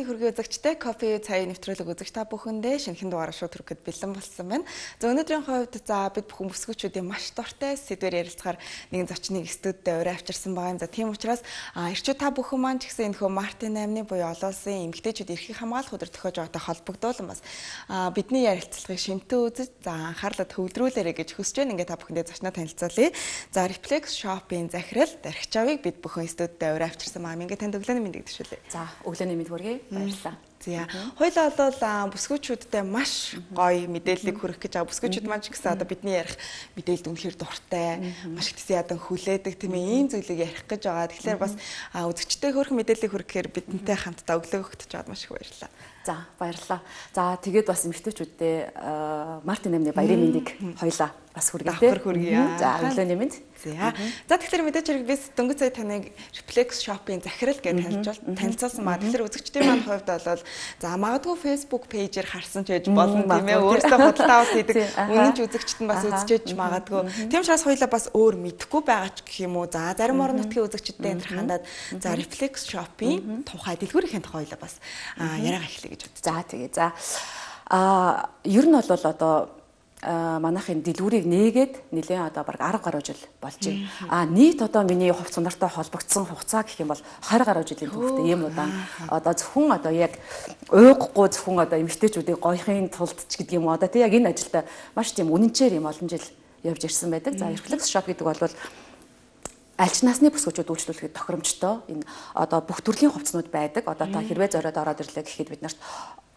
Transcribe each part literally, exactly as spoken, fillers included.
хүргэе үзэгчтэй кофе цай нэвтрүүлэг үзэгч та бүхэндээ шинэхэн дугаараа шууд хүрэхэд бэлэн болсон байна. За өнөөдрийн хувьд за бид бүхэн бүсгүүчүүдийн маш дуртай сэдвээр ярилцахаар нэгэн зочныг студид өрөө авчирсан байгаа юм. За тийм учраас эрчүүд та бүхэн маань ч гэсэн энэ хөө Мартин аймны буюу олон улсын эмэгтэйчүүд эрхийг хамгаалах өдөр төхөж байгаатай холбогдуулан бас бидний ярилцлагыг шимтэн үзэж за анхаарлаа төвлөрүүлээрэй гэж хүсэж байна. Ингээ та бүхэндээ зочноо танилцуулъя. За Reflex Shop-ийн захирал Дархичаавыг бид бүхэн студид өрөө авчирсан байгаа. Ингээ танд өглөөний мэндийг төшөөлье. За өглөөний мэнд хүргэе. Баярлалаа. За хоёлаа бол бүсгүүчүүдтэй маш гоё мэдээллийг хүргэх гэж байгаа. Бүсгүүчүүд маань ч гэсэн одоо бидний ярих мэдээлэлд үнэхээр дуртай, маш их тийм ядан хүлээдэг тийм ийм зүйлийг ярих гэж байгаа. Тэгэхээр бас үзэгчтэй хөрх мэдээллийг хүргэхээр бидэнтэй хамтдаа өглөө өгч чад маш их баярлалаа. За баярлалаа. За тэгээд бас эмэгтэйчүүдтэй Мартин аймны баярын мэндийг хоёлаа бас хүргэе. За өглөөний мэнд. За. За тэгэхээр мэдээж хэрэг би дөнгөж сая таныг Reflex Shop-ийн захирал гэж танилцуул танилцуулсан маа. Тэгэхээр үзэгчдийн маань хувьд бол за магадгүй Facebook пэйжээр харсан ч байж болно тийм ээ. Өөрөөсөө худалдаа авалт хийдэг үнэн ч үзэгчд нь бас үзчихэж магадгүй. Тийм учраас хоёлаа бас өөр мэдэхгүй байгаа ч гэх юм уу. За зарим орон нутгийн үзэгчдтэй энэ хандаад за Reflex Shop-ийн тухай дэлгүүрийн тухай хоёлаа бас яриага эхлэе гэж бодчих. За тэгээ. За а ер нь бол одоо манайхын дэлгүүрийг нээгээд нэлээд одоо бараг арга гаруй жил болж байна. А нийт одоо миний хувц сундартай холбогдсон хугацаа гэх юм бол харь гаруй жилийн түүхтэй юм удаан. Одоо зөвхөн одоо яг уйгахгүй зөвхөн одоо эмэгтэйчүүдийн гоёхын тулд ч гэдэг юм уу. Одоо тий яг энэ ажилдаа маш тийм үнэнчээр юм олон жил явж ирсэн байдаг. За Reflex Shop гэдэг бол аль ч насны бүсгүүчүүд үйлчлүүлэхэд тохиромжтой энэ одоо бүх төрлийн хувцснууд байдаг. Одоо та хэрвээ зориод ороод ирлээ гэхэд бид нарт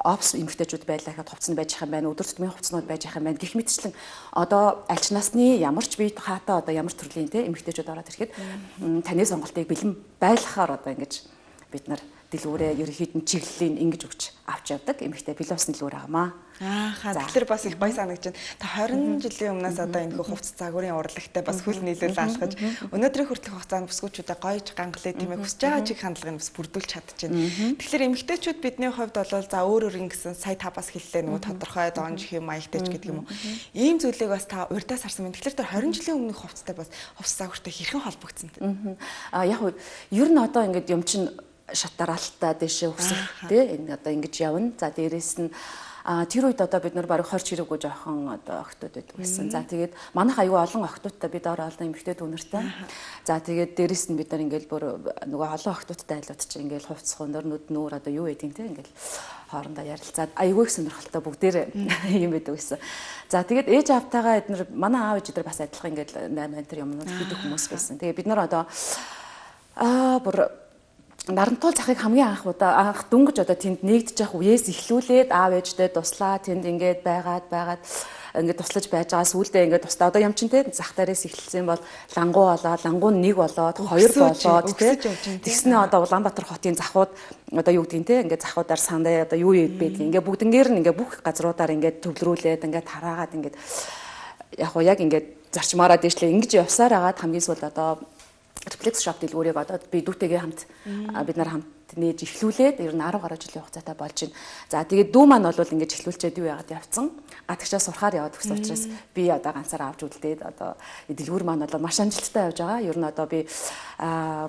опс эмэгтэйчүүд байлаа гэхэд хувцсан байж ах юм байна. Өдөр тутмын хувцснууд байж ах юм байна. Гэх мэтчлэн одоо аль ч насны ямар ч бие хаатай одоо ямар төрлийн те эмэгтэйчүүд ороод ирэхэд таны сонголтыг бэлэн байлгахаар одоо ингэж бид нар дэлгүүрээ ерөнхийд нь чиглэлийн ингэж өгч авч явдаг. Эмэгтэй бэлэн усны дэлгүүр аамаа. Аа хаа тэгэхээр бас их гоё санагдаж байна. Та хорин жилийн өмнөөс одоо энэ хувцас загварын урлагтай бас хөл нийлүүл алхаж өнөөдрийн хүртэлх хугацаанд бүсгүүчүүдэд гоёж гангалаа тийм ээ хүсэж байгаа чиг хандлагыг бас бүрдүүлж чадчихна. Тэгэхээр эмэгтэйчүүд бидний хувьд бол за өөр өөр ингэсэн сая та бас хэллээ нөгөө тодорхой донж хэм маягтай ч гэдэг юм уу. Ийм зүйлийг бас та урьдаас харсан байна. Тэгэхээр тэр хорин жилийн өмнөх хувцастай бас хувцас загвартай хэрхэн холбогдсон бэ? Аа яг нь ер нь одоо ингээд юм чин шатаралтаа дэшээ өсөх тий энэ одоо ингэж явна. За дээрэс нь а тэр үед одоо бид нар бараг двадцать хэрэггүй жоохон одоо охтууд байдаг байсан. За тэгээд манайх аюу олон охтуудтай бид ороо олон эмэгтэй дүүнэртэй. За тэгээд дээрэс нь бид нар ингээл бүр нөгөө олон охтуудтай айлууд чи ингээл хувцс хонор нүд нүүр одоо юу байдیں те ингээл хоорондоо ярилцаад аюу их сонирхолтой бүгдээр юм байдаг байсан. За тэгээд ээж аавтайгаа эднэр манай аав ээж дээр бас адилхан ингээл найман тэр юмнууд хийдэг хүмүүс байсан. Тэгээд бид нар одоо аа бүр нарантуул захыг хамгийн анх удаа анх дүнгэж одоо тэнд нэгдэж явах үеэс эхлүүлээд аав ээжтэй туслаа тэнд ингээд байгаад байгаад ингээд туслаж байж байгаа сүулдэ ингээд тусдаа одоо юм чин те зах дээрээс эхэлсэн бол лангуу болоод лангуу нэг болоод хоёр болоод те тэгснэ одоо Улаанбаатар хотын захууд одоо юу гэдгийг те ингээд захуудаар сандаа одоо юу байдгийг ингээд бүгднгээр нь ингээд бүх газруудаар ингээд төвлөрүүлээд ингээд тараагаад ингээд яг уу яг ингээд зарчмаараа дэвшлээ ингэж явсаар агаад хамгийн сүүл одоо Reflex Shop дэлгүүрийг одоо би дүүтэйгээ хамт бид нар хамт нээж эхлүүлээд ер нь арав гаруй жилийн хугацаатай болж байна. За тэгээд дүү маань бол ингэж эхлүүлчихэд юу яагаад явцсан. Гадагшаа сурахаар яваад гэсэн учраас би одоо ганцаараа авч үлдээд одоо дэлгүүр маань бол маш амжилттай явж байгаа. Ер нь одоо би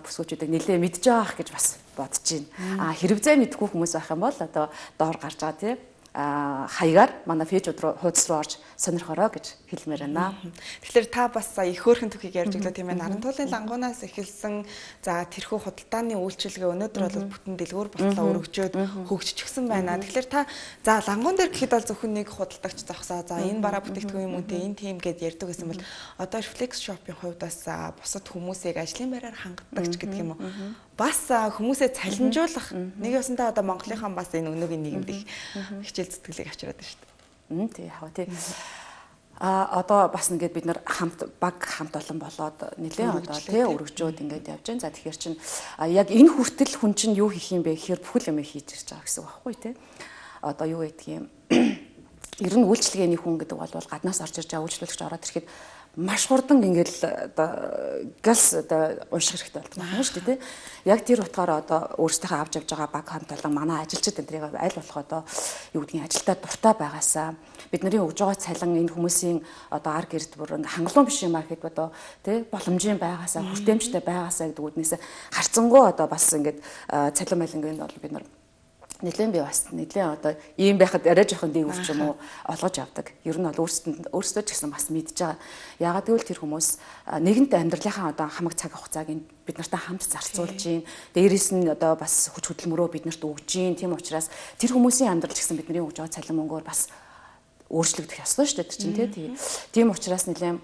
бүсгүүчүүдийг нэлээ мэдж байгаа гэж бас бодож байна. А хэрвээ мэдгүй хүмүүс байх юм бол одоо доор гарч байгаа тийм а хаягаар манай фэйж руу хуудас руу орж сонирхороо гэж хэлмээр байна. Тэгэхээр та бас их хөөрхөн түүхийг ярьж өглөө тийм ээ. Нарантуулын лангуунаас эхэлсэн за тэрхүү худалдааны үйлчилгээ өнөөдөр бол бүтэн дэлгүүр болтлоо өргөжөөд хөгжчихсэн байна. Тэгэхээр та за лангуун дээр гэхэд бол зөвхөн нэг худалдагч зогсоо за энэ бараа бүтээгдэхүүн юм үнтэй энэ тийм гэд ярьдаг гэсэн бол одоо Reflex Shop-ийн хувьд бас бусад хүмүүсийг ажлын байраар хангадагч гэдэг юм уу? Бас хүмүүсээ цалинжуулах нэг ясандаа одоо Монголынхан бас энэ өнөөгийн нийгэмд их хичээл зүтгэлийг авчираад байна шүү дээ. Мм тий яг тий. А одоо бас ингээд бид нар хамт баг хамт олон болоод нэлээд одоо тий өргөжөөд ингээд явж байна. За тэгэхээр чин яг энэ хүртэл хүн чинь юу хийх юм бэ гэхээр бүхэл юм хийж ирж байгаа гэсэн үг байхгүй тий. Одоо юу гэдгийг ер нь үйлчлэгээний хүн гэдэг бол гаднаас орж ирж байгаа үйлчлүүлэгч ороод ирэхэд маш хурдан ингээл одоо газ одоо унших хэрэгтэй болдог юм шүү дээ тий. Яг тэр утгаараа одоо өөрсдийнхөө авч явж байгаа баг хамт олон манай ажилчид энтрийг аль болох одоо юу гэдгийг ажилдаа дуртай байгаасаа бидний өгж байгаа цалин энэ хүмүүсийн одоо ар гэрд бүр хангалуун биш юм аа гэхэд одоо тий боломжийн байгаасаа хүртээмжтэй байгаасаа гэдэг үднээс харцсангуу одоо бас ингээд цалин малингийн бол бид нар Нэлээд би бас нэлээд одоо ийм байхад арай жоохон дээгүүр ч юм уу олгож авдаг. Ер нь бол өөрсдөд өөрсдөө ч гэсэн бас мэдж байгаа. Яагаад гэвэл тэр хүмүүс нэгэнт амьдралынхаа одоо хамаг цаг хугацааг бид нартай хамт зарцуулж гин. Дээрээс нь одоо бас хүч хөдөлмөрөө биднэрт өгж гин. Тийм учраас тэр хүмүүсийн амьдрал ч гэсэн бидний өгж байгаа цалин мөнгөөр бас өөрчлөгдөх ёстой шүү дээ чинь тий. Тийм учраас нэлээд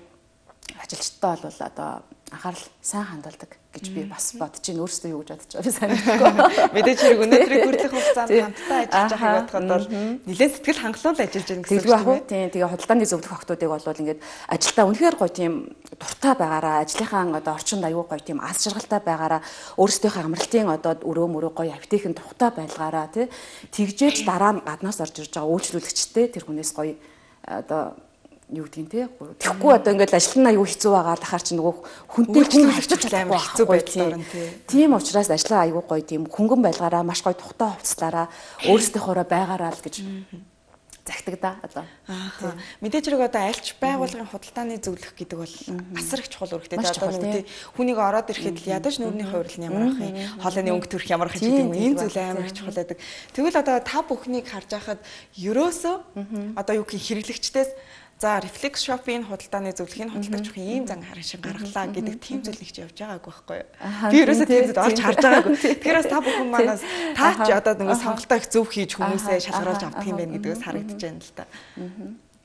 ажилчтай бол одоо анхаарал сайн хандуулдаг гэж би бас бодож байна. Өөрөөсөө юу гэж бодож байгаа би сайн мэдэхгүй. Мэдээж хэрэг өнөөдрийг хүртэх хугацаанд хамтдаа ажиллаж байгааг бодоход бол нэлээд сэтгэл хангалуун ажиллаж байгаа гэсэн үг тийм. Тийм. Тэгээ худалдааны зөвлөх охтуудыг бол ингээд ажилдаа үнэхээр гоё тийм дуртай байгаараа, ажлынхаа одоо орчинд аюул гоё тийм аз жаргалтай байгаараа, өөрсдийнхөө амралтын одоо өрөө мөрөө гоё апотекийн тухтай байлгаараа тий. Тэгжээж дараа нь гаднаас орж ирж байгаа үйлчлүүлэгчтэй тэр хүнээс гоё одоо юу гэдэг те тэгэхгүй одоо ингээд ажил нь аюу хэцүү байгаа дахаар чи нөгөө хүнтэй хүн хавчиж амар хэцүү байдлаар нь тийм учраас ажлаа аюу гоё тийм хөнгөн байлгаараа маш гоё тухтай хувцлаараа өөрсдийнхоороо байгаараа л гэж загтаг да одоо мэдээж хэрэг одоо альч байгууллагын худалдааны зөвлөх гэдэг бол асар их чухал үүрэгтэй одоо нэг хүнийг ороод ирэхэд л ядаж нүүрний хувирлал нь ямар ах юм хоолойны өнгө төрх ямар ах юм гэдэг юм энэ зүйл амар их чухал байдаг тэгвэл одоо та бүхнийг харж байхад ерөөсөө одоо юу гэх хэрэглэгчдээс за Reflex Shop-ийн худалдааны зөвлөхийн худалдагч их ийм зан харан шин гаргалаа гэдэг тийм зүйл нэгч явж байгаагүй байхгүй юу. Би ерөөсөө тийм зүйл олж харж байгаагүй. Тэгэхээр бас та бүхэн манаас та ч одоо нэг сонголтоо их зөв хийж хүмүүсээ шалгаруулж авдаг юм байна гэдгээс харагдаж байна л та.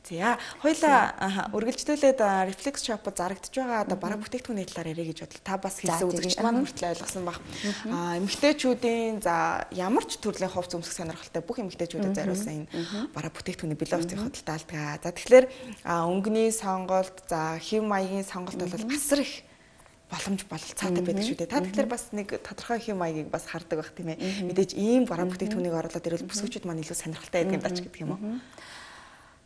За хоёлаа үргэлжлүүлээд Reflex Shop-д зарагдж байгаа одоо бараг бүтээгдэхүүний талаар ярих гэж бодлоо. Та бас хэлсэн үзэгчд маань хүртэл ойлгосон баг. Аа эмэгтэйчүүдийн за ямар ч төрлийн хувц өмсөх сонирхолтой бүх эмэгтэйчүүдэд зориулсан энэ бараг бүтээгдэхүүний билетийн худалдаалдаг. За тэгэхээр өнгөний сонголт, за хэв маягийн сонголт бол асар их боломж бололцоотой байдаг шүү дээ. Та тэгэхээр бас нэг тодорхой хэм маягийг бас хардаг байх тийм ээ. Мэдээж ийм бараг бүтээгдэхүүнийг оруулаад ирвэл бүсгүүчүүд маань илүү сонирхолтой байдаг юм даач гэдэг юм уу?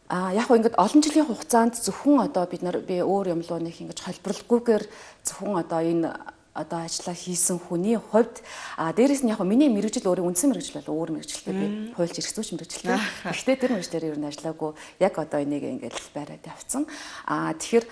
А яг хөө ингээд олон жилийн хугацаанд зөвхөн одоо бид нар би өөр юм луу нэг ингэж холборлоггүйгээр зөвхөн одоо энэ одоо ажиллаа хийсэн хүний хувьд а дээрэс нь яг миний мэрэгжил өөрийн үндсэн мэрэгжил бол өөр мэрэгжилтэй би хуульч эрх зүйч мэрэгжилтэй. Гэхдээ тэр мэрэгчлэр ер нь ажиллаагүй яг одоо энийг ингээд байраад явцсан. А тэгэхээр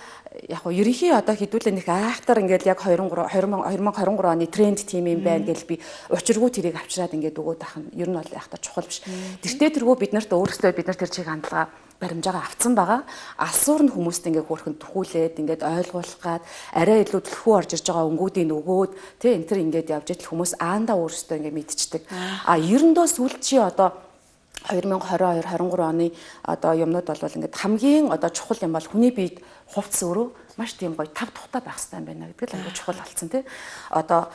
яг хөө ерөнхий одоо хэдүүлээ нэг айхтар ингээд яг две thousand twenty-three оны тренд тим юм байна гэж би учиргүй тэрийг авчираад ингээд өгөөд ах нь ер нь бол айхтар чухал биш. Тэртээ тэргөө бид нарт өөрсдөө бид нар тэр чиг хандлага баримжаагаа авцсан байгаа. Алсуур нь хүмүүст ингээ хөөрхөн төхүүлээд ингээд ойлгуулах гад арай илүү төлхөө орж ирж байгаа өнгүүдийн өгөөд тий энэ төр ингээд явж идэл хүмүүс аандаа өөрсдөө ингээ мэдчихдэг. А ерөндөө сүүлчийн одоо twenty twenty-two twenty-three оны одоо юмнууд бол ингээд хамгийн одоо чухал юм бол хүний биед хувцс өөрөө маш тийм гоё тав тухтай байх хэрэгтэй юм байна гэдэг л аягүй чухал болсон тий. Одоо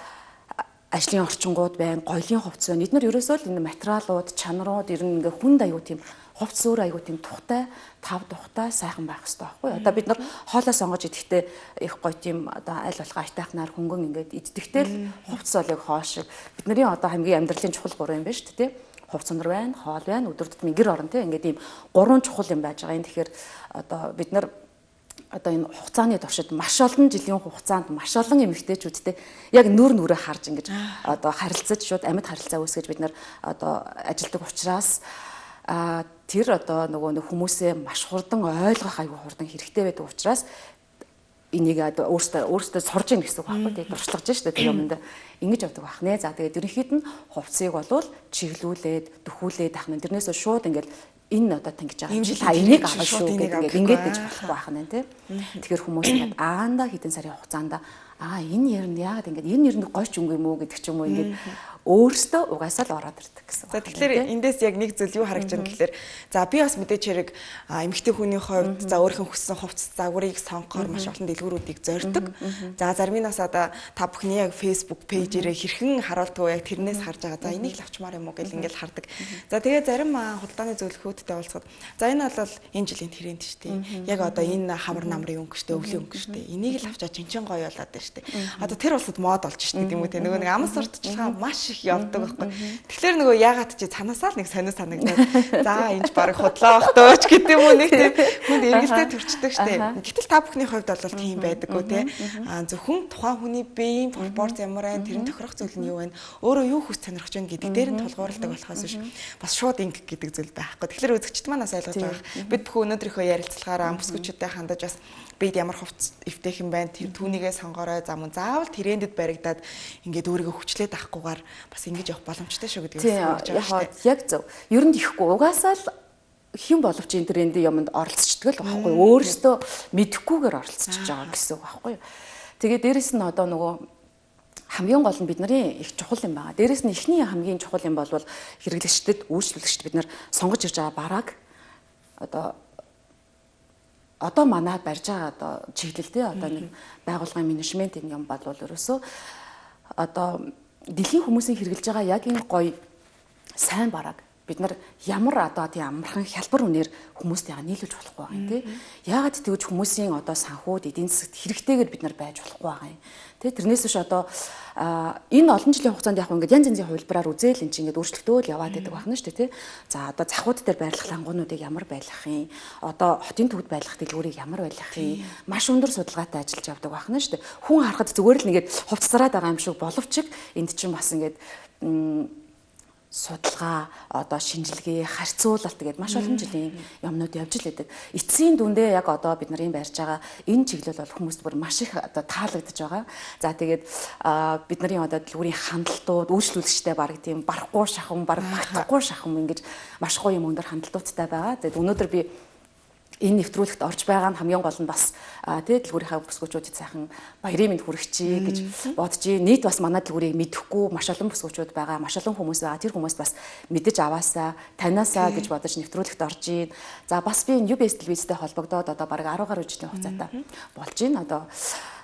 ажлын орчингууд байна, гоёлын хувцс байна. Эдгээр ерөөсөө л энэ материалууд, чанарууд ер нь ингээ хүнд аягүй тийм хувцс өөр аягүй тийм тухтай, тав тухтай сайхан байх хэрэгтэй байхгүй юу? Одоо бид нар хоолоо сонгож идэхдээ их гоё тийм одоо аль болох айтайхнаар хөнгөн ингээд иддэхдээ л хувцс бол яг хоол шиг бидний одоо хамгийн амьдралын чухал гурван юм байна шүү дээ, тий? Хувцс өндөр байна, хоол байна, өдөр тутмын гэр орон тий ингээд ийм гурван чухал юм байж байгаа юм. Тэгэхээр одоо бид нар одоо энэ хугацааны туршид маш олон жилийн хугацаанд маш олон эмэгтэйчүүдтэй яг нүр нүрээ харж ингэж одоо харилцаж шууд амьд харилцаа үүсгэж бид нар одоо ажилдаг учраас а тэр одоо нөгөө нэг хүмүүсээ маш хурдан ойлгох аюу хурдан хэрэгтэй байдаг учраас энийг өөртөө өөртөө сурж ийн гэсэн үг байхгүй тийм дуршлагж штэ тэр юмд ингэж явдаг байх нэ. За тэгээд ерөнхийд нь хувцсыг болвол чиглүүлээд дөхүүлээд ах нь тэрнээс шууд ингээл энэ одоо тангиж байгаа юм чи та энийг авах шүү гэдэг ингээд ингэж болохгүй байх нь тийм. Тэгэхээр хүмүүс ингээд аанда хэдэн сарын хугацаанд аа энэ ер нь яагаад ингээд энэ ер нь гойч өнгө юм уу гэдэг ч юм уу ингээд өөртөө угаасаа л ороод ирдэг гэсэн. За тэгэхээр эндээс яг нэг зүйл юу харагдж байна гэхээр за би бас мэдээч хэрэг эмэгтэй хүний хувьд за өөрийнхөө хүссэн хувцас загварыг сонгохоор маш олон дэлгүүрүүдийг зорддог. За зарим нь бас одоо та бүхний яг Facebook пэйжээрээ хэрхэн харуулдаг яг тэрнээс харж байгаа. За энийг л авчмаар юм уу гэл ингээл хардаг. За тэгээ зарим худалдааны зөвлөхүүдтэй уулзахад за энэ бол энэ жилийн тренд шүү дээ. Яг одоо энэ хамар намрын өнгө шүү дээ, өвлийн өнгө шүү дээ. Энийг л авчаа чинчин гоё болоод байна шүү дээ. Одоо тэр улсад мод болж шүү дээ тийм үү те. Нөгөө нэг амс урдчилгаа маш их явдаг байхгүй. Тэгэхээр нөгөө ягаад чи цанаасаа л нэг сонио санагдаад за энэ ч баг худлаа бах дөөч гэдэг юм уу нэг тийм хүнд эргэлтэй төрчдөг штэ. Гэтэл та бүхний хувьд бол тийм байдаггүй те. А зөвхөн тухайн хүний биеийн пропорц ямар байна, тэрийн тохирох зүйл нь юу байна, өөрөө юу хүс сонирхож байна гэдэг дээр нь тулгуурладаг болохоос биш бас шууд инг гэдэг зүйл байхгүй. Тэгэхээр үзэгчд манаас ойлгож байгаа. Бид бүхэн өнөөдрийнхөө ярилцлагаараа бүсгүүчүүдэд хандаж бас бид ямар хувц эвтэйх юм байна, тэр түүнийгээ сонгорой. байгаа. За мөн заавал трендэд баригдаад ингээд өөрийгөө хүчлээд авахгүйгээр бас ингэж явах боломжтой шүү гэдэг юм байна шүү дээ. Яг зөв. Ер нь ихгүй угаасаа л хэн боловч энэ трендийн юмд оролцдог л байхгүй. Өөрөөсөө мэдэхгүйгээр оролцож байгаа гэсэн үг байхгүй. Тэгээд дээрэс нь одоо нөгөө хамгийн гол нь бидний их чухал юм байгаа. Дээрэс нь эхний хамгийн чухал юм бол хэрэглэгчдэд, үйлчлүүлэгчд бид нар сонгож ирж байгаа бараг одоо одоо манай барьж байгаа одоо чиглэлтэй одоо нэг байгууллагын менежмент энэ юм бол ерөөсөө одоо дэлхийн хүмүүсийн хэрэглэж байгаа яг энэ гоё сайн бараг бид нар ямар одоо тийм амархан хялбар үнээр хүмүүстэйгээ нийлүүлж болохгүй байгаа юм тий. Яагаад тэгвэл хүмүүсийн одоо санхүүд эдийн засагт хэрэгтэйгээр бид нар байж болохгүй байгаа юм. Тэ тэрнээс биш одоо энэ олон жилийн хугацаанд яг ингээд янз янзын хувилбараар үзээл эн чинь ингээд өөрчлөгдөөл яваад байдаг байна шүү дээ тий. За одоо завхууд дээр байрлах лангуунуудыг ямар байлгах юм? Одоо хотын төвд байлгах дэлгүүрийг ямар байлгах юм? Маш өндөр судалгаатай ажиллаж явдаг байна шүү дээ. Хүн харахад зүгээр л ингээд хувцсараад байгаа юм шиг боловч энд чинь бас ингээд судалгаа одоо шинжилгээ харьцуулалт гэдэг маш олон жилийн юмнууд явж л байдаг. Эцсийн дүндээ яг одоо бид нарын барьж байгаа энэ чиглэл бол хүмүүст бүр маш их одоо таалагдж байгаа. За тэгээд бид нарын одоо дэлгүүрийн хандлтууд үйлчлүүлэгчтэй баг тийм барахгүй шахам баг багтахгүй шахам ингэж маш гоё юм өндөр хандлтуудтай байгаа. Тэгээд өнөөдөр би энэ нэвтрүүлэгт орж байгаа нь хамгийн гол нь бас тий дэлгүүрийнхаа бүсгүүчүүдэд сайхан баярын мэнд хүргэчихье гэж бодож байна. Нийт бас манай дэлгүүрийг мэдэхгүй маш олон бүсгүүчүүд байгаа, маш олон хүмүүс байгаа. Тэр хүмүүс бас мэдэж аваасаа, таниасаа гэж бодож нэвтрүүлэгт орж байна. За бас би ю би эс телевизтэй холбогдоод одоо бараг арван гаруй жилийн хугацаатай болж байна. Одоо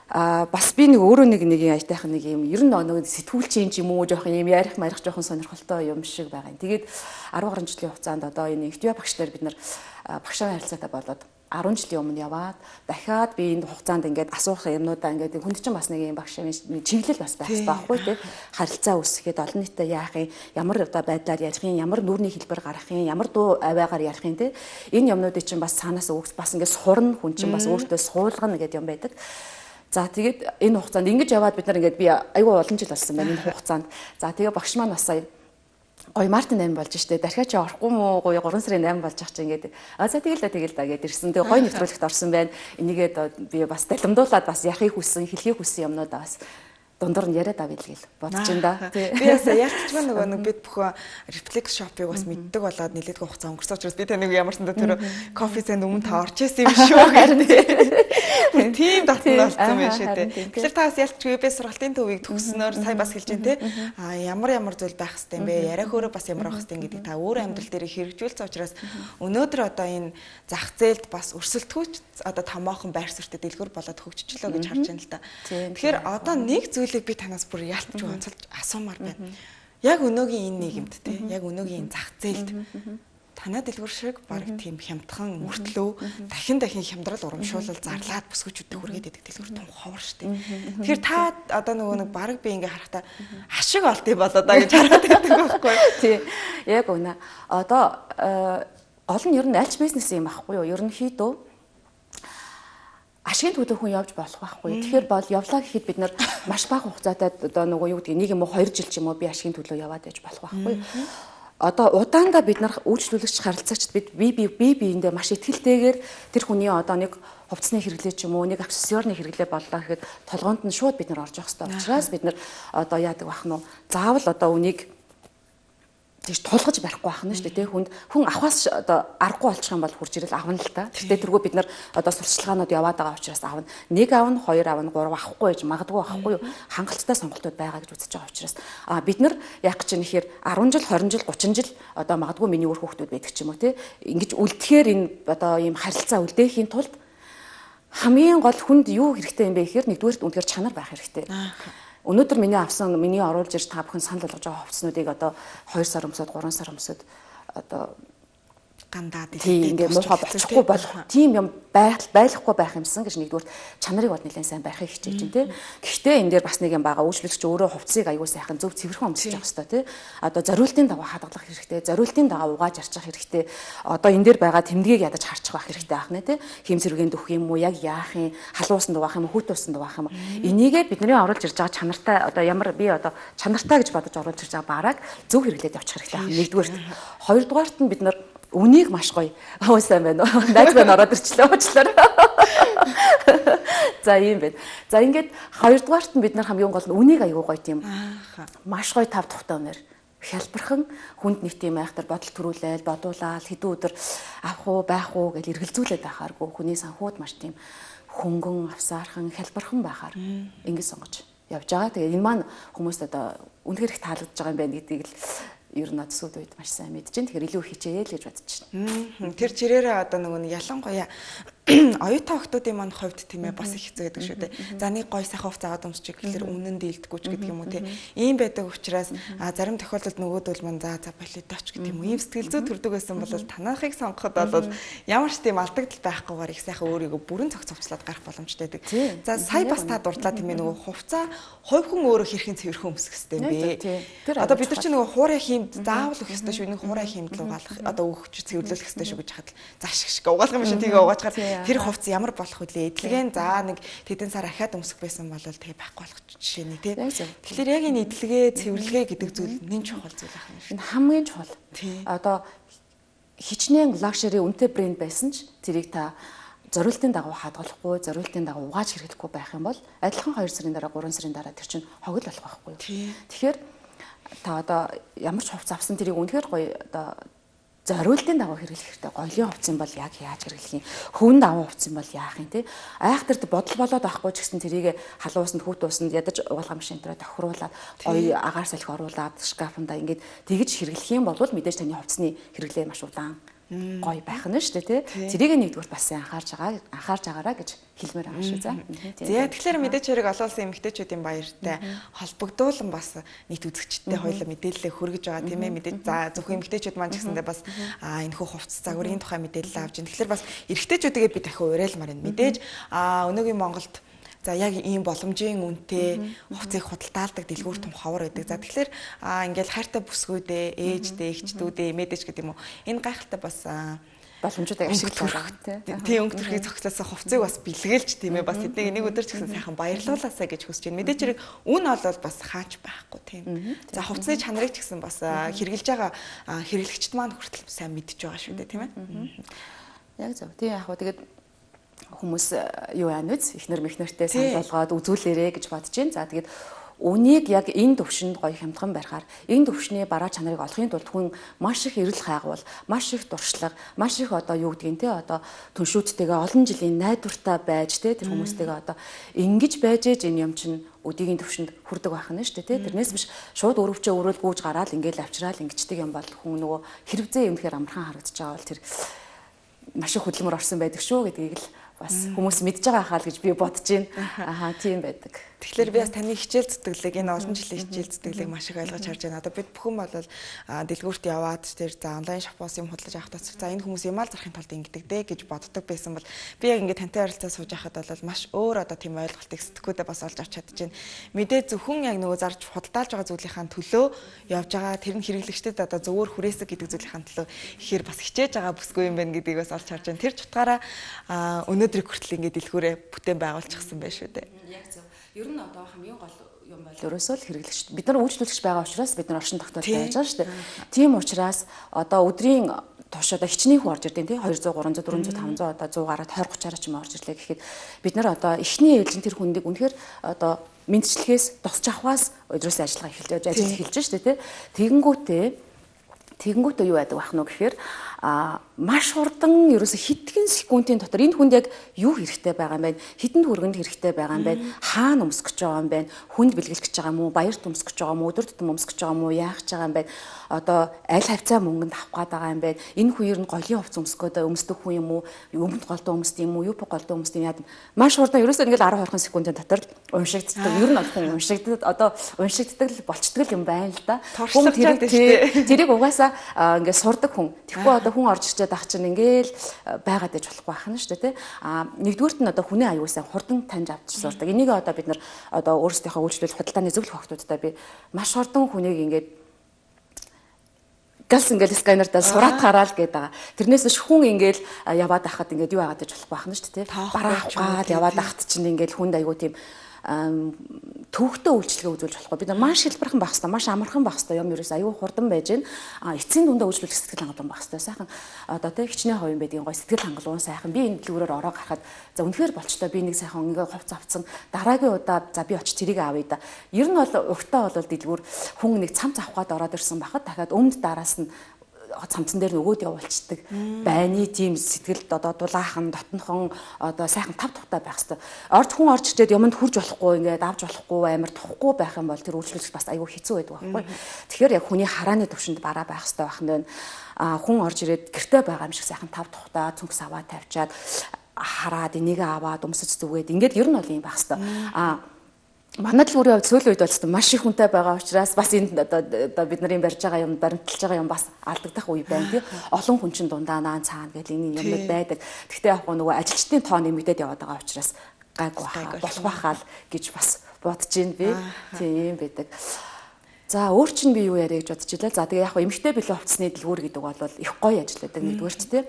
а бас би нэг өөрөө нэг нэг аятайхан нэг юм ер нь нэг сэтгүүлчийн юм уу жоохон юм ярих марих жоохон сонирхолтой юм шиг байгаа юм. Тэгээд арван гаруй жилийн хугацаанд одоо энэ Эф Ди А багш нар бид нар багшаа харилцаатай болоод арван жилийн өмнө яваад дахиад би энэ хугацаанд ингээд асуух юмнуудаа ингээд хүнд чинь бас нэг юм багшаа чиглэл бас байх хэрэгтэй байхгүй тий. Харилцаа үүсгэхэд олон нийтэд яах юм, ямар одоо байдлаар ярих юм, ямар нүүрний хэлбэр гаргах юм, ямар дуу аваагаар ярих юм тий. Энэ юмнуудыг чинь бас цаанаас өгс бас ингээд сурна хүн чинь бас өөртөө суулгана гэдэг юм байдаг. За тэгээд энэ хугацаанд ингэж яваад бид нар ингээд би айгүй олон жил болсон байна энэ хугацаанд. За тэгээ багш маань бас сая гоё Мартин амин болж штэ. Дахиад чи орохгүй мүү гоё гурван сарын амин болж ах чи ингээд. А за тэгэл да тэгэл да гэд ирсэн. Тэгээ гоё нэвтрүүлэгт орсон байна. Энийгээ би бас далимдуулаад бас яхахыг хүссэн, хэлхийг хүссэн юмнуудаа бас дундуур нь яриад авъя л гэл бодож байна да. Би бас ялцчгүй нөгөө нэг бид бүхэн рефлекс шопыг бас мэддэг болоод нэлээдгүй хугацаа өнгөрсөн учраас би таныг ямарсан да тэр кофе санд өмнө та орж ирсэн юм шүү гэдэг. Тийм татсан болсон юм шиг тий. Тэгэхээр та бас ялцчгүй би сургалтын төвийг төгснөөр сая бас хэлж дээ тий. А ямар ямар зүйл байх хэвтэй юм бэ? Яриах өөрөө бас ямар байх хэвтэй гэдэг та өөр амьдрал дээр хэрэгжүүлсэн учраас өнөөдөр одоо энэ зах зээлд бас өрсөлдөхүйч одоо томоохон байр суурьтай дэлгүүр болоод хөгжчихлөө гэж харж байна л да. Тэгэхээр одоо нэг зүйлийг би танаас бүр ялтч онцолж асуумаар байна. Яг өнөөгийн энэ нийгэмд те яг өнөөгийн энэ зах зээлд танай дэлгүүр шиг баг тийм хямдхан мөртлөө дахин дахин хямдрал урамшуулал зарлаад бүсгүүчүүдэд хүргээд идэг дэлгүүр том ховор штэ. Тэгэхээр та одоо нөгөө нэг баг би ингээ харахтаа ашиг олт юм болоо да гэж хараад байдаг байхгүй юу? Тий. Яг үнэ. Одоо гол нь ер нь альч бизнес юм аахгүй юу? Ерөнхийдөө ашигын төлөө хүн явж болох байхгүй. Тэгэхээр бол явлаа гэхэд бид нар маш бага хугацаатай одоо нөгөө юу гэдэг нэг юм уу хоёр жил ч юм уу би ашигын төлөө яваад байж болох байхгүй. Одоо удаандаа бид нар үйлчлүүлэгч харилцагчд бид би би би биендээ маш ихтэйгээр тэр хүний одоо нэг хувцсны хэрэглээ ч юм уу нэг аксессуарны хэрэглээ боллоо гэхэд толгоонд нь шууд бид нар орж явах хэрэгтэй учраас бид нар одоо яадаг бах нь заавал одоо үнийг тийш тулгаж барихгүй байх нь шүү дээ тий хүнд хүн авахаас одоо аргагүй болчих юм бол хурж ирэл авна л та. Тэгтээ тэргүй бид нар одоо сурчлагаанууд яваад байгаа учраас авна. Нэг авна, хоёр авна, гурав авахгүй гэж магадгүй авахгүй юу. Хангалттай сонголтууд байгаа гэж үзэж байгаа учраас а бид нар яг гэж нэхэр арван жил, хорин жил, гучин жил одоо магадгүй миний өөр хүүхдүүд байдаг ч юм уу тий. Ингэж үлдэхээр энэ одоо ийм харилцаа үлдээхийн тулд хамгийн гол хүнд юу хэрэгтэй юм бэ гэхээр нэгдүгээр үнэхээр чанар байх хэрэгтэй. Өнөөдөр миний авсан миний оруулж ирж та бүхэн санал болгож байгаа хувцснуудыг одоо хоёр сар өмсөд гурван сар өмсөд одоо гандаад ингээ муухай болчихгүй болох тийм юм байх байхгүй байх юмсан гэж нэгдүгээр чанарыг бол нэлээд сайн барихыг хичээж байна тий. Гэхдээ энэ дээр бас нэг юм байгаа үйлчлэгч өөрөө хувцсыг аягүй сайхан зөв цэвэрхэн өмсөж явах хэрэгтэй тий. Одоо зориултын дагуу хадгалах хэрэгтэй, зориултын дагуу угааж арчих хэрэгтэй. Одоо энэ дээр байгаа тэмдгийг ядаж харчих байх хэрэгтэй байх нэ тий. Хэмсэргийн дөх юм уу, яг яах юм, халуусанд угаах юм, хүүтүүсэнд угаах юм. Энийгээ бидний оруулж ирж байгаа чанартай одоо ямар би одоо чанартай гэж бодож оруулж ирж байгаа бараг зөв хэрэглээд явчих хэрэгтэй. Нэгдүгээрт, хоёрдугаарт нь бид нар үнийг маш гоё. Оо сайн байна уу? Найз маань ороод ирчлээ уучлаарай. За ийм байна. За ингээд хоёрдугаарт нь бид нар хамгийн гол нь үнийг аягүй гоё тийм. Маш гоё тав тухтай өнөр хялбархан хүнд нэг тийм айхтар бодол төрүүлээл, бодуулаад хэдэн өдөр авах уу, байх уу гэж эргэлзүүлээд байхааргүй хүний санхуд маш тийм хөнгөн, авсаархан, хялбархан байхаар ингэж сонгож явж байгаа. Тэгээ энэ маань хүмүүст одоо үнэхээр их таалагдж байгаа юм байна гэдгийг л ер нь сүүл үед маш сайн мэдэж байна. Тэгэхээр илүү хичээе л гэж бодож байна. Тэр чирээрээ одоо нөгөө нэг ялангуяа оюутан охтуудын маань хувьд тийм ээ бас их хэцүү гэдэг шүү дээ. За нэг гой сайхан хувц аваад өмсчих гэхэлэр үнэн дийлдэггүй ч гэдэг юм уу тийм. Ийм байдаг учраас зарим тохиолдолд нөгөөдөл маань за за болидоч гэдэг юм уу. Ийм сэтгэл зүй төрдөг байсан бол танахыг сонгоход бол ямар ч тийм алдагдал байхгүйгээр их сайхан өөрийгөө бүрэн цогцовчлаад гарах боломжтой байдаг. За сая бас та дурдлаа тийм ээ нөгөө хувцаа хувь хүн өөрөө хэрхэн цэвэрхэн өмсөх хэрэгтэй юм бэ? Одоо бид нар чинь нөгөө хуурай хиймд заавал өгөх хэрэгтэй шүү. Нэг хуурай хиймд л угаалах одоо өгч цэвэрлүүлэх хэрэгтэй шүү гэж хад зааш шиг угаалгах юм шиг тийг угаачаар тэр хувцс ямар болох вүлээ? Эдлэгэн за нэг тэдэн сар ахаад өмсөх байсан бол тэгээ байхгүй болох жишээ нь тий. Тэгэхээр яг энэ эдлэгээ, цэвэрлэгээ гэдэг зүйл нэн чухал зүйл ах юм шиг. Энэ хамгийн чухал. Одоо хичнээн лакшери үнэтэй брэнд байсан ч тэрийг та зориултын дагуу хадгалахгүй, зориултын дагуу угааж хэрэглэхгүй байх юм бол адилхан хоёр сарын дараа, гурван сарын дараа тэр чинь хогл болох байхгүй юу? Тэгэхээр та одоо ямар ч хувцас авсан тэрийг үнэхээр гоё одоо зориултын дагуу хэрэглэх хэрэгтэй. Голын хувцас юм бол яг яаж хэрэглэх юм? Хөвөнд авах хувцас юм бол яах юм те? Айхтар бодол болоод байхгүй ч гэсэн тэрийг халуусанд хүүтуусанд ядаж угаалгах машин дээр тохируулаад гоё агаар салхи оруулаад шкафанда ингээд тэгж хэрэглэх юм бол мэдээж таны хувцсны хэрэглээ маш удаан гоё байх нь шүү дээ тий. Зэрийг нэгдүгээр бас анхаарч байгаа анхаарч байгаараа гэж хэлмээр байгаа шүү за. За тэгэхээр мэдээж хэрэг олоолсон эмэгтэйчүүдийн баяртай холбогдуулан бас нийт үзэгчдтэй хоёулаа мэдээлэл хүргэж байгаа тийм ээ. Мэдээж за зөвхөн эмэгтэйчүүд маань ч гэсэндээ бас аа энэхүү хувцас загварын тухай мэдээлэл авч ин. Тэгэхээр бас эрэгтэйчүүдгээ би дахин уриалмаар байна. Мэдээж аа өнөөгийн Монголд за яг ийм боломжийн үнэтэй хувцсыг худалдаалдаг дэлгүүр том ховор байдаг. За тэгэхээр ингээл хайртай бүсгүүдээ, ээждээ, эгчдүүдээ, мэдээж гэдэг юм уу. Энэ гайхалтай бас боломжуудыг ашиглах тийм өнгө төрхийг зохицуулсан хувцсыг бас бэлгэлж тийм ээ бас эднийг нэг өдөр ч гэсэн сайхан баярлуулаасаа гэж хүсэж байна. Мэдээж хэрэг үн олвол бас хаач байхгүй тийм. За хувцсны чанарыг ч гэсэн бас хэрэгжилж байгаа хэрэглэгчд маань хүртэл сайн мэдж байгаа шүү дээ тийм ээ. Яг зөв. Тийм яг хөө тэгээд хүмүүс юу яа нүц ихнэр мэхнэртэй санал болгоод үзүүлээрэ гэж бодож байна. За тэгээд үнийг яг энэ төвшөнд гоё хямдхан барихаар энэ төвшний бараа чанарыг олохын тулд хүн маш их эрэл хайгуул, маш их дуршлаг, маш их одоо юу гэдгийг те одоо түншүүдтэйгээ олон жилийн найдвартай байж те тэр хүмүүстэйгээ одоо ингэж байж ээж энэ юм чинь өдийгийн төвшөнд хүрдэг байх нь шүү дээ те. Тэрнээс биш шууд өрөвчөө өрөөл гүйж гараад ингээл авчраал ингэждэг юм бол хүн нөгөө хэрэгзээ юм тэгэхээр амархан харагдаж байгаа бол тэр маш их хөдөлмөр орсон байдаг шүү гэдгийг л бас хүмүүс мэдж байгаа хаа л гэж би бодож байна. Ахаа тийм байдаг. Тэгэхээр би бас таны хичээл зүтгэлэг энэ олон жилийн хичээл зүтгэлэг маш их ойлгож харж байна. Одоо бид бүхэн бол дэлгүүрт яваад тэр за онлайн шопоос юм худалдаж авах тас за энэ хүмүүс юм аа зарахын тулд ингэдэг дээ гэж боддог байсан бол би яг ингээд тантай харилцаа сууж байхад бол маш өөр одоо тийм ойлголтыг сэтгхүүдээ бас олж авч чадж байна. Мэдээ зөвхөн яг нөгөө зарж худалдаалж байгаа зүйлийнхаа төлөө явж байгаа тэр нь хэрэглэгчдэд одоо зөвөр хүрээсэг гэдэг зүйлийнхаа төлөө ихээр бас хичээж байгаа бүсгүй юм байна гэдгийг бас олж харж байна. Тэр ч утгаараа өнөөдрийг хүртэл ингээд дэлгүүрээ бүтээн байгуулчихсан байх шүү дээ. Яг зөв. Ер нь одоо хамгийн гол юм бол ерөөсөө л хэрэглэгч. Бид нар үйлчлүүлэгч байгаа учраас бид нар оршин тогтоол байж байгаа шүү дээ. Тийм учраас одоо өдрийн турш одоо хичнээн хүн орж ирдیں۔ Тий двести, триста, четыреста, пятьсот одоо сто гараад двадцать тридцать ч юм орж ирлээ гэхэд бид нар одоо эхний ээлжин тэр хүндийг үнэхээр одоо мэдчлэхээс тусч авахаас өдрөөс ажиллага эхэлж ажил эхэлж шүү дээ. Тий тэгэнгүүтээ тэгэнгүүтээ юу яадаг байх нь гэхээр а маш хурдан ерөөсө хэдхэн секундын дотор энэ хүнд яг юу хэрэгтэй байгаа юм бэ? Хэдэн төгрөгөнд хэрэгтэй байгаа юм бэ? Хаана өмсөх гэж байгаа юм бэ? Хүнд бэлгэлэх гэж байгаа юм уу? Баярт өмсөх гэж байгаа юм уу? Өдөр тутам өмсөх гэж байгаа юм уу? Яах гэж байгаа юм бэ? Одоо аль хавцаа мөнгөнд авах гээд байгаа юм бэ? Энэ хүн ер нь голын хувцас өмсөх гээд өмсдөг хүн юм уу? Өмнөд голдоо өмсдөг юм уу? Юп голдоо өмсдөг юм яа. Маш хурдан ерөөсө ингээл десять двадцать секундын дотор уншигддаг. Ер нь хүн уншигддаг одоо уншигддаг л болчдөг юм байна л да. Хүн тэрийг тэрийг угаасаа ингээд сурдаг хүн. Тэгэхгүй одоо хүн орж ирчээд ах чинь ингээл байгаад иж болохгүй байх нь шүү дээ тий. А нэгдүгürt нь одоо хүний аюулсаа хурдан таньж авч сурдаг. Энийг одоо бид нар одоо өөрсдийнхөө үйлчлэл худалдааны зөвлөх охтуудтай би маш хурдан хүнийг ингээд галс ингээл сканердаа сураат хараал гээд байгаа. Тэрнээс биш хүн ингээл яваад ахад ингээд юу яагаад иж болохгүй байх нь шүү дээ тий. Бараа ухаад яваад ахад чинь ингээл хүнд аюу тийм төвөгтэй үйлчлэгээ үзүүлж болохгүй. Бид нар маш хэлбэрхэн байх хэрэгтэй, маш амархан байх хэрэгтэй. Юм ерөөс аюу хурдан байж гэн. А эцсийн дундаа үйлчлүүлэх сэтгэл хангалуун байх хэрэгтэй. Сайхан одоо тэ хичнээн ховын байдгийн гой сэтгэл хангалуун сайхан би энэ дэлгүүрээр ороо гарахад за үнэхээр болчтой би нэг сайхан ингээ хувц авцсан дараагийн удаа за би очиж тэрийг авъя да. Ер нь бол өгтөө бол дэлгүүр хүн нэг цамц авахад ороод ирсэн байхад дахиад өмнөд дараас нь цамцан дээр нөгөөд явуулцдаг байны тийм сэтгэлд одоо дулаахан дотнохон одоо сайхан тав тухтай байх хэвээр. Орж хүн орж ирээд юмд хурж болохгүй ингээд авч болохгүй амар тухгүй байх юм бол тэр үйлчлүүлэгч бас айгүй хэцүү байдаг байхгүй. Тэгэхээр яг хүний харааны төвшөнд бараа байх хэвээр байх нь а хүн орж ирээд гэртээ байгаа юм шиг сайхан тав тухтай цүнхс аваа тавьчаад хараад энийг аваад өмсөж зүгээд ингээд ер нь бол юм байх хэвээр. А манай дэлгүүрийн хувьд сүүлийн үед бол маш их хүнтэй байгаа учраас бас энэ одоо бид нарын барьж байгаа юм баримталж байгаа юм бас алдагдах үе байна тий. Олон хүн чинь дундаа наан цаана гэл энэ юмуд байдаг. Гэхдээ яг нөгөө ажилчдын тоо нэмэгдээд яваад байгаа учраас гайгүй болох байхаа л гэж бас бодож байна би. Тийм байдаг. За өөр чинь би юу яриа гэж бодож илаа. За тэгээ яг хөө эмэгтэй билүү хувцсны дэлгүүр гэдэг бол их гоё ажилладаг нэгдүгээр ч тий.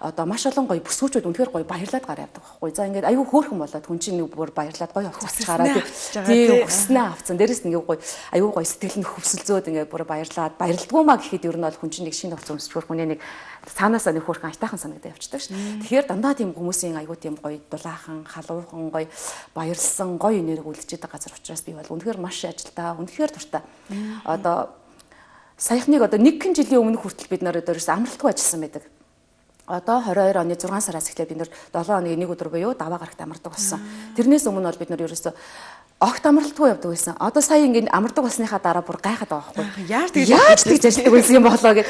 Одоо маш олон гоё бүсгүүчүүд үнэхээр гоё баярлаад гараа явдаг байхгүй. За ингээд аюу хөөрхөн болоод хүн чинь нэг бүр баярлаад гоё хувцас гараад тий хүснээ авцсан. Дээрэс нь ингээд гоё аюу гоё сэтгэл нь хөвсөлзөөд ингээд бүр баярлаад баярлдггүй маа гэхэд ер нь бол хүн чинь нэг шинэ хувцас өмсчвэр хүний нэг цаанаасаа нэг хөөрхөн айтайхан санагдаад явчихдаг шүү. Тэгэхээр дандаа тийм хүмүүсийн аюу тийм гоё дулаахан халуухан гоё баярлсан гоё энерги үлдчихэд байгаа газар учраас би бол үнэхээр маш ажилтаа үнэхээр дуртай. Одоо саяхныг одоо нэг жилийн өмнө хүртэл бид нар өөрөөс амралтгүй ажилласан байдаг. Одоо двадцать двадцать оны зургаан сараас эхлээд бид нар долоо хоногийн нэг өдөр буюу даваа гарагт амардаг болсон. Тэрнээс өмнө бол бид нар ерөөсөө огт амралтгүй явдаг байсан. Одоо сая ингээд амардаг болсныхаа дараа бүр гайхаад байгаа байхгүй. Яаж тэгж яаж тэгж ажилладаг байсан юм болоо гэд.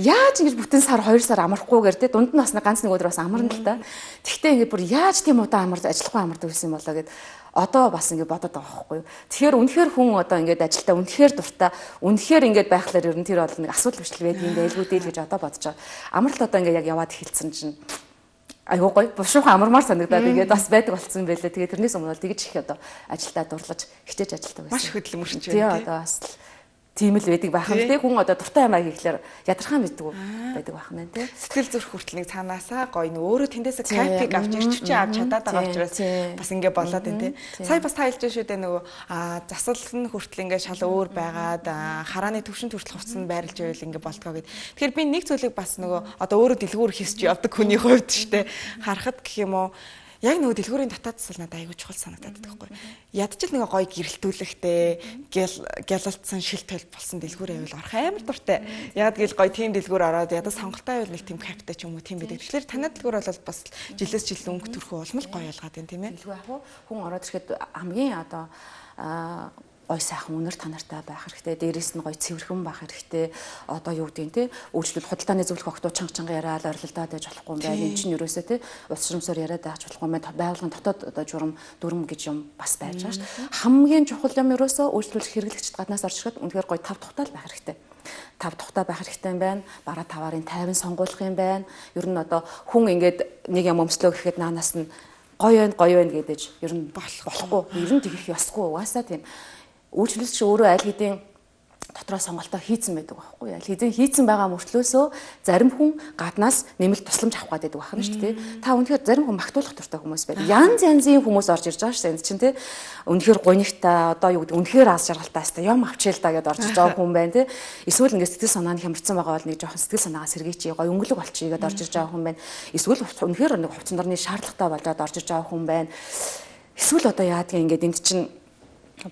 Яаж ингэж бүтэн сар хоёр сар амархгүйгээр те дунд нь бас ганц нэг өдөр бас амарна л та. Тэгвэл ингээд бүр яаж тийм удаа амарч ажиллахгүй амардаг байсан юм болоо гэд. Одоо бас ингэ бодоод байгаа байхгүй юу. Тэгэхээр үнэхээр хүн одоо ингээд ажилдаа үнэхээр дуртай, үнэхээр ингээд байхлаар ер нь тэр бол нэг асуудал бичлэг байдаг юм байлгүй дээ л гэж одоо бодож байгаа. Амралт одоо ингээд яг яваад эхэлсэн чинь айгуу гоё бушуухан амармаар санагдаад ингээд бас байдаг болсон байлээ. Тэгээ тэрнээс өмнө бол тэгж их одоо ажилдаа дурлаж хичээж ажилладаг байсан. Маш хөдөлмөрч байна. Тий одоо бас тийм л байдаг байх юм тий. Хүн одоо дуртай юм аа гэхлээр ядархан мэддэг байдаг байх нь тий. Сэтгэл зүрх хүртэл нэг цаанаасаа гоё нэг өөрөө тэндээсээ кайфыг авч ирчвчээ авч чадаад байгаа учраас бас ингэ болоод байна тий. Сая бас тайлж шүү дээ нөгөө засал нь хүртэл ингэ шал өөр байгаад харааны төвшин хүртэл хувцсан байрлж байвал ингэ болдгоо гэд. Тэгэхээр би нэг зүйлийг бас нөгөө одоо өөрөө дэлгүүр хийсч явдаг хүний хувьд шүү дээ. Харахад гэх юм уу яг нөгөө дэлгүүрийн дотоод засал надад аягүй чухал санагдаад байдаг байхгүй. Ядчил нэг гоё гэрэлтүүлэхтэй гялалтсан шил толь болсон дэлгүүр байвал орох амар дуртай. Яг гэл гоё тийм дэлгүүр ороод ядаа сонголтой байвал нэг тийм кайфтай ч юм уу тийм байдаг. Тэгэхээр танай дэлгүүр бол бас жилээс жил өнгө төрхөө улмал гоё ялгаад байна тийм ээ. Дэлгүүр яг хүн ороод ирэхэд хамгийн одоо гой сайхан үнэр танартай байх хэрэгтэй. Дээрээс нь гой цэвэрхэн байх хэрэгтэй. Одоо юу гэдэг нь те үйлчлэл худалдааны зөвлөх огтуд чанга чанга яриад орилдаад байж болохгүй юм байна. Энд чинь ерөөсөө те ус шурамсаар яриад байж болохгүй юм байна. Байгууллагын дотоод одоо журам дүрм гэж юм бас байж байгаа шүү. Хамгийн чухал юм ерөөсөө үйлчлүүлэх хэрэглэгчд гаднаас орж ирэхэд үнэхээр гой тав тухтай л байх хэрэгтэй. Тав тухтай байх хэрэгтэй юм байна. Бараа таварын тайван сонгуулах юм байна. Ер нь одоо хүн ингээд нэг юм өмслөө гэхэд наанаас нь гоё байна, гоё байна гэдэж ер нь болохгүй. Ер нь тэгэх ёсгүй. Угаасаа тийм үйлчлүүлэгч өөрөө аль хэдийн дотроо сонголтоо хийцэн байдаг байхгүй. Аль хэдийн хийцэн байгаа мөртлөөсөө зарим хүн гаднаас нэмэлт тусламж авах гэдэг байх нь шүү дээ. Та үнэхээр зарим хүн магтуулах дуртай хүмүүс байдаг. Янз янзын хүмүүс орж ирж байгаа шүү дээ. Энд чинь тий. Үнэхээр гонигтай одоо юу гэдэг үнэхээр аз жаргалтай хэвээр юм авчээл та гэдээ орж ирж байгаа хүн байна тий. Эсвэл ингээд сэтгэл санаа нь хямрцсан байгаа бол нэг жоохон сэтгэл санаагаа сэргийчээ гоё өнгөлөг болчихъя гэдээ орж ирж байгаа хүн байна. Эсвэл үнэхээр нэг хувцсан дорны шаардлагатай болоод орж ирж байгаа хүн байна. Эсвэл одоо яадгийг ингээд энд чинь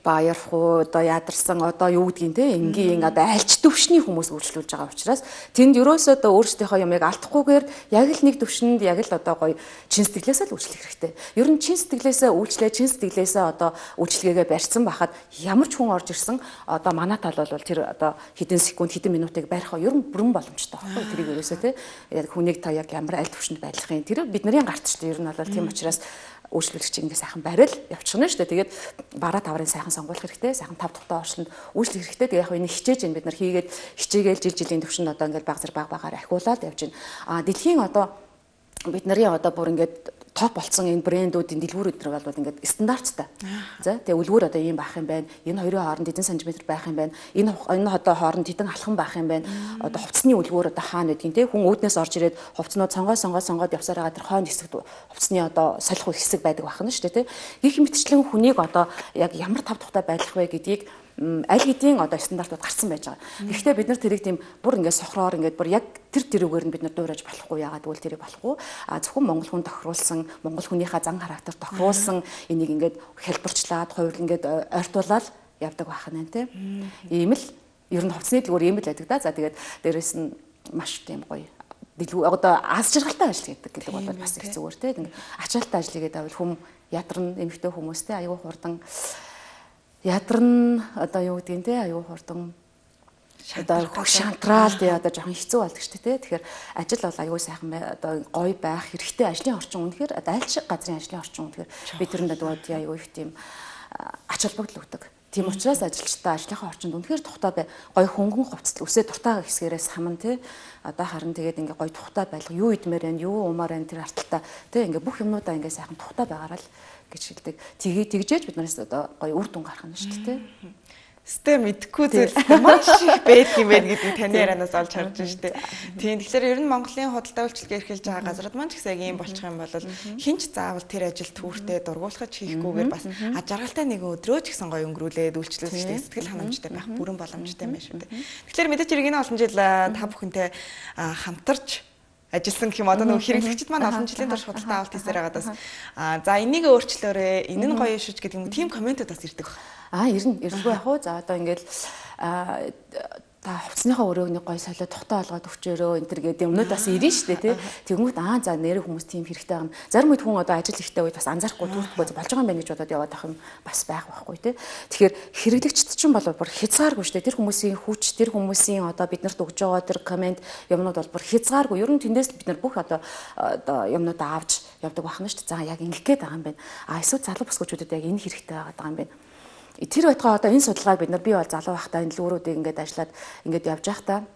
баярхуу одоо ядарсан одоо юу гэдгийг те энгийн одоо альч төвшний хүмүүс үйлчлүүлж байгаа учраас тэнд ерөөсөө одоо өөрсдийнхөө юмыг алдахгүйгээр яг л нэг төвшөнд яг л одоо гоё чин сэтгэлээсээ л үйлчлэх хэрэгтэй. Ер нь чин сэтгэлээсээ үйлчлээ, чин сэтгэлээсээ одоо үйлчлэгээгээ барьсан байхад ямар ч хүн орж ирсэн одоо манай тал бол тэр одоо хэдэн секунд хэдэн минутыг барихаа ер нь бүрэн боломжтой байхгүй тэрийг ерөөсөө те яг хүнийг та яг ямар аль төвшөнд байлгахын тэр бидний гарт ч ер нь бол тийм учраас үйлчлүүлэгч ингэ сайхан барил явчихна шүү дээ. Тэгээд бараа таврын сайхан сонгуулах хэрэгтэй, сайхан тав тухтай орчинд үйлчлэх хэрэгтэй. Тэгээд яг энэ хичээж энэ бид нар хийгээд хичээгээл жил жилийн төвшөнд одоо ингэ баг зэрэг баг багаар ахиулаад явж байна. А дэлхийн одоо бид нарын одоо бүр ингэ топ болсон энэ брэндүүдийн дэлгүүр өдр бол ингээд стандарттай. За тэгээ үлгүүр одоо ийм байх юм байна. Энэ хоёрын хооронд хэдэн сантиметр байх юм байна. Энэ энэ одоо хооронд хэдэн алхам байх юм байна. Одоо хувцсны үлгүүр одоо хаана гэдгийг те хүн үүднээс орж ирээд хувцнууд сонгоо сонгоо сонгоод явсараа тэр хойно хэсэгт хувцсны одоо солих хэсэг байдаг байна шүү дээ те. Гэх мэтчлэн хүнийг одоо яг ямар тав тухтай байх вэ гэдгийг аль хэдийн одоо стандартууд гарсан байж байгаа. Гэхдээ бид нар тэрийг тийм бүр ингээд сохроор ингээд бүр яг тэр тэрүүгээр нь бид нар дуурайж болохгүй яагаад гэвэл тэрийг болохгүй. А зөвхөн монгол хүн тохируулсан, монгол хүнийхээ зан характер тохируулсан энийг ингээд хэлбэрчлээд хувир ингээд ойртуулаад явдаг байх нь тийм. Ийм л ер нь хувцсны дэлгүүр ийм л байдаг да. За тэгээд дээрэс нь маш тийм гоё дэлгүүр одоо аз жаргалтай ажил гэдэг гэдэг бол бас их зүгээр тийм. Ачаалттай ажил гэдэг бол хүм ядарн эмэгтэй хүмүүстэй аюу хурдан ядарн одоо юу гэдгийг те аюу хурдан одоо шантраал те одоо жоохон хэцүү болдог шүү дээ. Тэгэхээр ажил бол аюу сайхан одоо гоё байх хэрэгтэй ажлын орчин үнэхээр одоо аль шиг газрын ажлын орчин үнэхээр бид тэрэнд дууд аюу их тийм ач холбогдол өгдөг. Тийм учраас ажилчдаа ажлынхаа орчинд үнэхээр тухтай бай гоё хөнгөн хувцас үсээ дуртай хэсгээрээс хаман те одоо харин тэгээд ингээ гоё тухтай байлга юу идмээр байна юу уумаар байна тэр арталтаа те ингээ бүх юмнуудаа ингээ сайхан тухтай байгаараа л гэж хэлдэг. Тэгээ тэгжээж бид нараас одоо гоё үр дүн гарах нь шүү дээ. Сте мэдхгүй зүйл маш их байдаг юм байна гэдэг таны ярианаас олж харж байна шүү дээ. Тийм тэгэхээр ер нь Монголын худалдаа үйлчлэгээ эрхэлж байгаа газрууд маань ч гэсэн яг ийм болчих юм бол хинч заавал тэр ажил түүртээ дургуулхаж хийхгүйгээр бас а жаргалтай нэгэн өдрөө ч гэсэн гоё өнгөрүүлээд үйлчлүүлэх сэтгэл ханамжтай байх бүрэн боломжтой байна шүү дээ. Тэгэхээр мэдээч иргэний олон жил та бүхэнтэй хамтарч ажилласан гэх юм одоо нөгөө хэрэглэгчид маань олон жилийн турш худалдаа авалт хийсээр байгаа даас а за энийг өөрчлөөрэй энэ нь гоё шүүж гэдэг юм тийм комментууд бас ирдэг. Аа ирнэ ирнэгүй яг уу за одоо ингээл та хувцсныхаа өрөөний гоё солио тухтай олгоод өгчөөрөө энэ төр гэдэг юмнууд бас ирнэ шүү дээ тий. Тэгмүүд аа за нэрээ хүмүүс тийм хэрэгтэй байна. Зарим үед хүн одоо ажил ихтэй үед бас анзаарахгүй түүхгүй болж байгаа юм байна гэж бодоод яваад ах юм бас байх байхгүй тий. Тэгэхээр хэрэглэгчд чинь бол бүр хязгааргүй шүү дээ. Тэр хүмүүсийн хүч тэр хүмүүсийн одоо биднэрт өгж байгаа тэр комент юмнууд бол бүр хязгааргүй. Ер нь тэндээс бид нар бүх одоо одоо юмнуудаа авч явдаг байна шүү дээ. За яг ингэх гээд байгаа юм байна. А эсвэл залуу бүсгүүчүүдэд яг энэ хэрэгтэй байгаа юм байна. Тэр байтугай одоо энэ судалгааг бид нар би бол залуу байхдаа энэ лүүрүүдийг ингээд ажиллаад ингээд явж байхдаа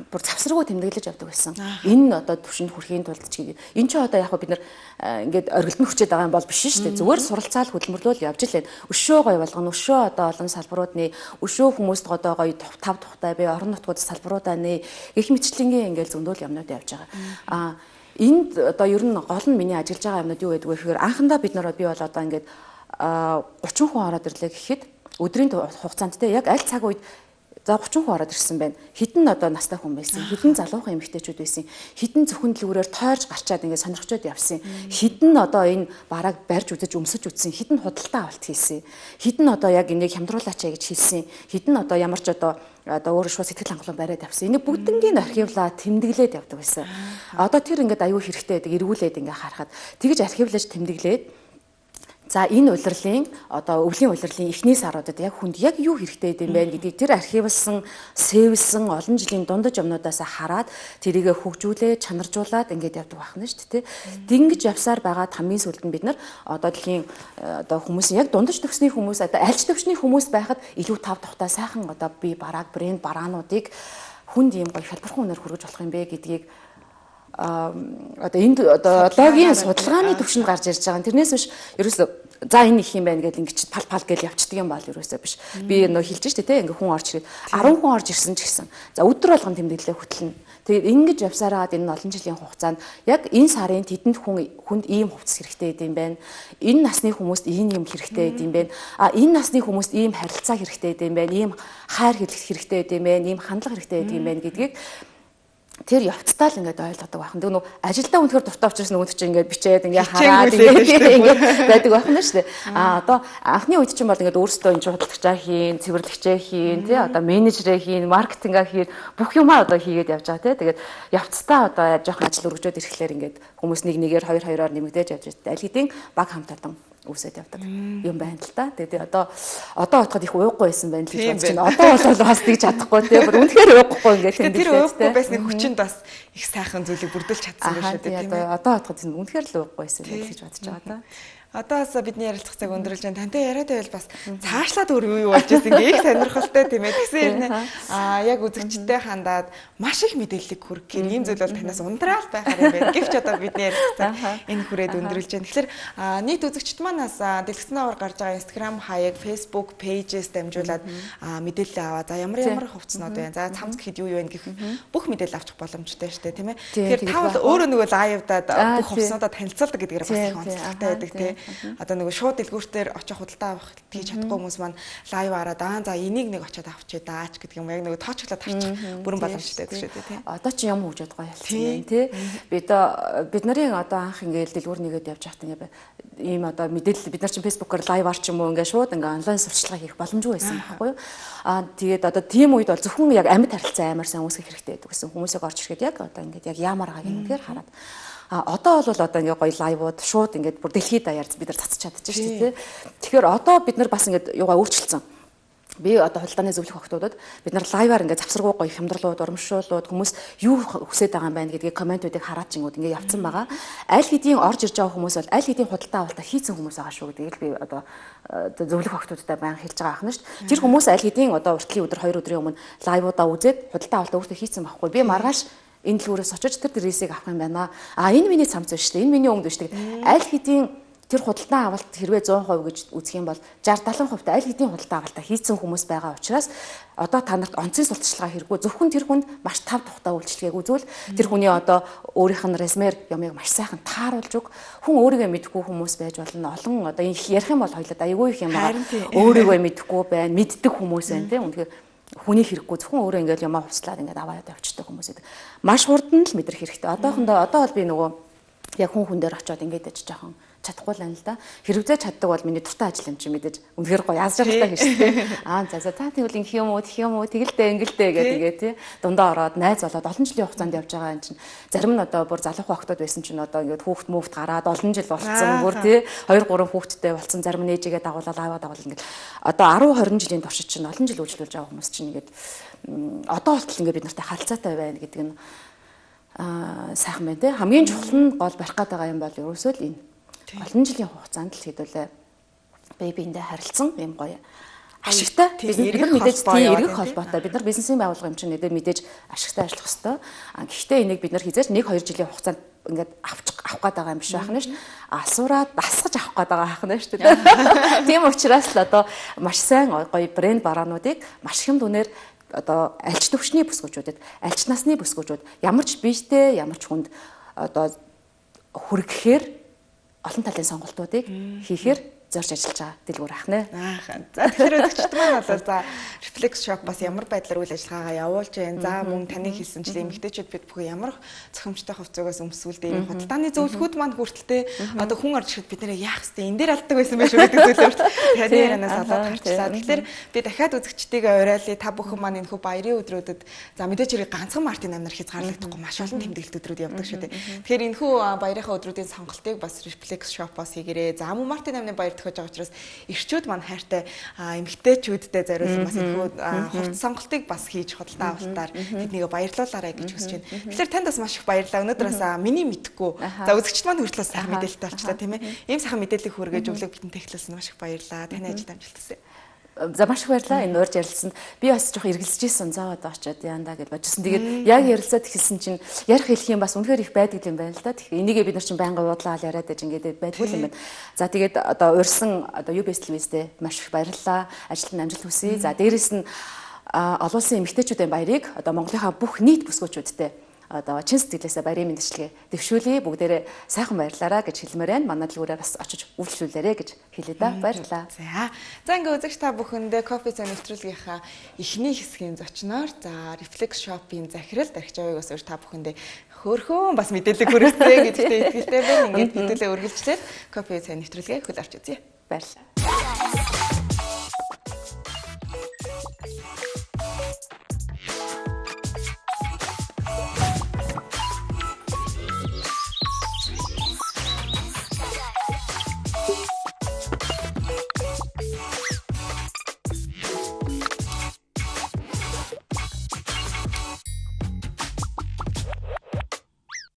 бүр завсраггүй тэмдэглэж явдаг байсан. Энэ одоо төвшөнд хүрэхийн тулд ч энэ ч одоо яг бид нар ингээд оргилдон хүчээд байгаа юм бол биш шүү дээ. Зүгээр суралцаал хөдөлмөрлөл явж л байна. Өшөө гоё болгоно, өшөө одоо олон салбаруудны өшөө хүмүүст одоо гоё тав тухтай бай, орон нутгууд салбаруудаа нэ гэх мэтчлэнгийн ингээд зөндөл юмнууд явж байгаа. А энд одоо ер нь гол нь миний ажиллаж байгаа юмнууд юу гэдэг вэ гэхээр анхандаа бид нараа би бол одоо ингээд гурван хүн ороод ирлээ гэхэд өдрийн хугацаанд те яг аль цаг үед за гурван хүн ороод ирсэн байна. Хитэн одоо настай хүн байсан. Хитэн залуухан эмэгтэйчүүд байсан. Хитэн зөвхөн дэлгүүрээр тойрж гарчаад ингээд сонирхчод явсан. Хитэн одоо энэ барааг барьж үзэж өмсөж үтсэн. Хитэн худалдаа авалт хийсэн. Хитэн одоо яг энийг хямдруулаач гэж хэлсэн. Хитэн одоо ямар ч одоо одоо өөрөө шууд сэтгэл хангалуун бариад авсан. Энийг бүгднийг архивлаа тэмдэглээд явдаг байсан. Одоо тэр ингээд аюу хэрэгтэй байдаг эргүүлээд ингээд харахад тэгж архивлаж тэмдэглээд за энэ улирлын одоо өвлийн улирлын эхний саруудад яг хүнд яг юу хэрэгтэй юм бэ гэдгийг тэр архивлсан, сэвэлсэн олон жилийн дундаж юмнуудаас хараад тэрийг хөгжүүлээ, чанаржуулаад ингээд явдаг байна шүү дээ. Тэнгиж явсаар байгаа хамгийн сүүлд нь бид нар одоо дэлхийн одоо хүмүүсийн яг дундаж төгсний хүмүүс одоо альч төвчний хүмүүс байхад илүү тав тухтай сайхан одоо би барааг брэнд бараануудыг хүнд ийм гоё хялбархан үнээр хүргэж болох юм бэ гэдгийг а одоо энд одоо логийн судалгааны төвшөнд гарч ирж байгаа. Тэрнээс биш ерөөсөө за энэ их юм байна гэдэг ингэж пал пал гэж явцдаг юм бол ерөөсөө биш. Би нөө хэлж штэ те ингээ хүн орж ирээд арван хүн орж ирсэн ч гэсэн. За өдөр болгон тэмдэглэлээ хөтлөнө. Тэгээд ингэж явсараад энэ олон жилийн хугацаанд яг энэ сарын тэдэнд хүн хүнд ийм хувцас хэрэгтэй юм байна. Энэ насны хүмүүст ийм юм хэрэгтэй юм байна. А энэ насны хүмүүст ийм харилцаа хэрэгтэй юм байна. Ийм хайр хэлэх хэрэгтэй юм байна. Ийм хандлага хэрэгтэй юм байна гэдгийг тэр явцдаа л ингээд ойлгодог байх. Тэг нөө ажилдаа үнэхээр дуртай учраас нөгөөд чинь ингээд бичээд ингээд хараад ингээд байдаг байх нь шүү дээ. А одоо анхны үед чинь бол ингээд өөрсдөө энэ худалдагчаа хийн, цэвэрлэгчээ хийн, тий одоо менежерээ хийн, маркетингаа хийн, бүх юмаа одоо хийгээд явж байгаа тий. Тэгээд явцдаа одоо жоохон ажил өргөжөөд ирэхлээр ингээд хүмүүс нэг нэгээр хоёр хоёроор нэмэгдээж явж байгаа. Аль хэдийн баг хамтардан үсэд явдаг юм байна л та. Тэгээд одоо одоо бодоход их уухгүй байсан байна л гэж бодож байна. Одоо бол бас тэгж чадахгүй тий. Бүр үнэхээр уухгүй ингээд тийм тэр уухгүй байсны хүчинд бас их сайхан зүйлийг бүрдүүлж чадсан байх шүү дээ тийм ээ. Одоо бодоход үнэхээр л уухгүй байсан гэж бодож байгаа та. Одоос бидний ярилцах цаг өндөрлж байна. Тантай яриад байвал бас цаашлаад өөр юу юу болж ирсэн ингээ их сонирхолтой тийм ээ. Тэгсэн юм аа яг үзэгчтэй хандаад маш их мэдээллийг хүргэх юм ийм зүйл бол танаас ундраал байхаар юм байна. Гэвч одоо бидний ярилцах цаг энэ хүрээд өндөрлж байна. Тэгэхээр нийт үзэгчд манаас дэлгэцнээр гарч байгаа Instagram хаяг, Facebook pages дамжуулаад мэдээлэл аваа. За ямар ямар хувцснууд байна. За цамц гэхэд юу юу байна гэх бүх мэдээлэл авчих боломжтой шүү дээ тийм ээ. Тэгэхээр та бол өөрөө нөгөө лайвдаад бүх хувцснуудаа танилцуулдаг гэдгээр бас их онцлогтой байдаг тийм. Одоо нөгөө шууд дэлгүүртээр очих худалдаа авах хийж чадахгүй хүмүүс маань лайв араад аа за энийг нэг очиод авчи даач гэдэг юм яг нөгөө тоочглоод харчих бүрэн боломжтой гэдэг шүү дээ тийм. Одоо чи юм хөгжөөд гоё хэлсэн юм тий. Бид бид нарын одоо анх ингээл дэлгүүр нэгээд явж байхад ингээ ийм одоо мэдээлэл бид нар чинь фэйсбүүкээр лайв арч юм уу ингээ шууд ингээ онлайн сурчлага хийх боломжгүй байсан байхгүй юу. Аа тэгээд одоо тийм үед бол зөвхөн яг амьд харилцаа амар сайн үүсгэх хэрэгтэй гэдэг гэсэн хүмүүсийг орж ирэхэд яг одоо ингээ яг ямар байгаа юм гэхээр хараад а одоо бол одоо ингээ гоё лайвууд шууд ингээ бүр дэлхийд даяар бид нар цацж чадчих шүү дээ. Тэгэхээр одоо бид нар бас ингээ юугаа өөрчилсөн. Би одоо хулдааны зөвлөх охтуудад бид нар лайваар ингээ завсаргүй гоё хямдралууд, урамшуулууд хүмүүс юу хүсэж байгаа юм байна гэдгийг комментуудыг хараад чингүүд ингээ явцсан байгаа. Аль хэдийн орж ирж байгаа хүмүүс бол аль хэдийн худалдаа авалтаа хийцэн хүмүүс байгаа шүү гэдгийг би одоо зөвлөх охтуудтай баян хэлж байгаа ахна шүү дээ. Тэр хүмүүс аль хэдийн одоо уртлын өдөр хоёр өдрийн өмнө лайвуудаа үзээд худалдаа авалтаа өөртөө хийцэн байхгүй. Би маргааш энэ дэлгүүрээс очиж тэр дэрээсийг авах юм байна. А энэ миний цамц биш үү? Энэ миний өнгө биш үү? Аль хэдийн тэр худалдаа авалт хэрвээ зуун хувь гэж үзэх юм бол шестьдесят сетenta хувьтай аль хэдийн худалдаа авалтаа хийцэн хүмүүс байгаа учраас одоо та нарт онцгийн сурталчилгаа хэрэггүй зөвхөн тэр хүнд маш тав тухтай үйлчлэгийг үзвэл тэр хүний одоо өөрийнх нь резюмер ямыг маш сайхан тааруулж өг хүн өөрийгөө мэдгүй хүмүүс байж болно. Олон одоо ярих юм бол хоёлаа айгүй их юм байгаа. Өөрийгөө мэдгүй байна, мэддэг хүмүүс байна тийм. Үнэхээр хүний хэрэггүй зөвхөн өөрөө ингээл ямаа хувцлаад ингээд аваад явчихдаг хүмүүс байдаг. Маш хурдан л мэдрэх хэрэгтэй. Одоохондоо одоо бол би нөгөө яг хүн хүн дээр очиод ингээд аж жоохон чадахгүй л юм л да. Хэрвээ чаддаг бол миний дуртай ажил юм чи мэдээж үнэхээр гоё аз жаргалтай хийж тээ. Аа за за та тэгвэл инх юм уу тэх юм уу тэгэлдээ ингэлдээ гэдэг тэгээ тий. Дундаа ороод найз болоод олон жилийн хугацаанд явж байгаа юм чинь зарим нь одоо бүр залуухан охтод байсан чинь одоо ингээд хүүхд мөвт гараад олон жил болцсон бүр тий. хоёр гурван хүүхдтэй болцсон зарим нь ээжигээ дагуулаад аваад дагуул ингээд одоо десять тwenty жилийн туршид чинь олон жил үйлчлүүлж байгаа хүмүүс чинь ингээд одоо болтол ингээд бид нартай харилцаатай байна гэдэг нь аа сайхан байна тий. Хамгийн чухал нь гол барих гээд байгаа юм бол ерөөсөө л энэ олон жилийн хугацаанд л хэдүүлээ бэбиндээ харилцсан юм гоё ашигтай бид нар мэдээж тийм эргэх холбоотой бид нар бизнесийн байгууллага юм чинь мэдээж ашигтай ажиллах хэвээр. А гэхдээ энийг бид нар хизээч нэг хоёр жилийн хугацаанд ингээд авчих авах гээд байгаа юм биш байх нь шүү. Алсураад дасгаж авах гээд байгаа байх нь шүү дээ. Тийм учраас л одоо маш сайн гоё брэнд бараануудыг маш хэм дүнээр одоо альч төвчний бүсгүүчүүдэд альч насны бүсгүүчүүд ямар ч биетэй ямар ч хүнд одоо хүргэхээр олон талын сонголтуудыг хийхээр зорж ажиллаж байгаа дэлгүүр ахна. Аахан. За тэгэхээр өдөгчд маань бол за Reflex Shop бас ямар байдлаар үйл ажиллагаагаа явуулж байна. За мөн таны хэлсэнчлэн эмэгтэйчүүд бид бүхэн ямар цохимжтой хувцаагаас өмсвөлдөө ийм худалдааны зөвлөгөөд маань хүртэлтэй одоо хүн орж ирэхэд бид нэр яах вэ? Энд дээр алддаг байсан байх шүү гэдэг зүйлээр таны ярианаас олоод харчлаа. Тэгэхээр би дахиад үзэгчдийгээ уриалъя. Та бүхэн маань энэ хүү баярын өдрүүдэд за мэдээж хэрэг ганцхан Мартин амнаар хязгаарлагдахгүй маш олон тэмдэглэлт өдрүүд явдаг шүү дээ. Тэгэхээр энэ хүү баярынхаа өдрүүдийн сонголтыг бас Reflex Shop-оос хийгээрэй. За мөн Мартин амны баяр төхөж байгаа учраас ирчүүд маань хайртай эмэгтэйчүүдтэй зориулсан бас энэ хувц сонголтыг бас хийж худалдаа авалтаар тэднийг баярлуулаарай гэж хүсэж байна. Тэгэхээр танд бас маш их баярлалаа. Өнөөдөр бас миний мэдхгүй за үзэгчд маань хүртэл сайхан мэдээлэлтэй болчлаа тийм ээ. Ийм сайхан мэдээллийг хүргэж өглөө бидэнд техлэлсэн маш их баярлалаа. Таны ажилд амжилт хүсье. За маш их баярлалаа. Энэ урьж ярилцсанд би бас жоох эргэлзэж исэн заа одоо очиод яандаа гэж бодчихсон. Тэгээд яг ярилцаад эхэлсэн чинь ярих хэлэх юм бас үнэхээр их байдаг юм байна л да. Тэгэхээр энийгээ бид нар чинь байнга бодлоо яриад байж ингээд байдгүй юм байна. За тэгээд одоо урьсан одоо ю би эс телевизтэй маш их баярлалаа. Ажилд амжилт хүсье. За дээрэс нь олон улсын эмэгтэйчүүдийн баярыг одоо Монголынхаа бүх нийт бүсгүүчүүдтэй одоо чин сэтгэлээсээ баярын мэндчилгээ дэвшүүлье. Бүгдээрээ сайхан баярлаарай гэж хэлмээр байна. Манай дэлгүүрээр бас очиж үйлчлүүлээрэй гэж хэлээ да. Баярлалаа. За. За ингээ үзэгч та бүхэндээ кофе цай нэвтрүүлгийнхаа эхний хэсгийн зочноор за Reflex Shop-ийн захирал Дархич Авигаас өөр та бүхэндээ хөөрхөн бас мэдээлэл хүргэсэн гэдэгт итгэлтэй байна. Ингээд хэдүүлээ үргэлжлээд кофе цай нэвтрүүлгээ хөл авч үзье. Баярлалаа.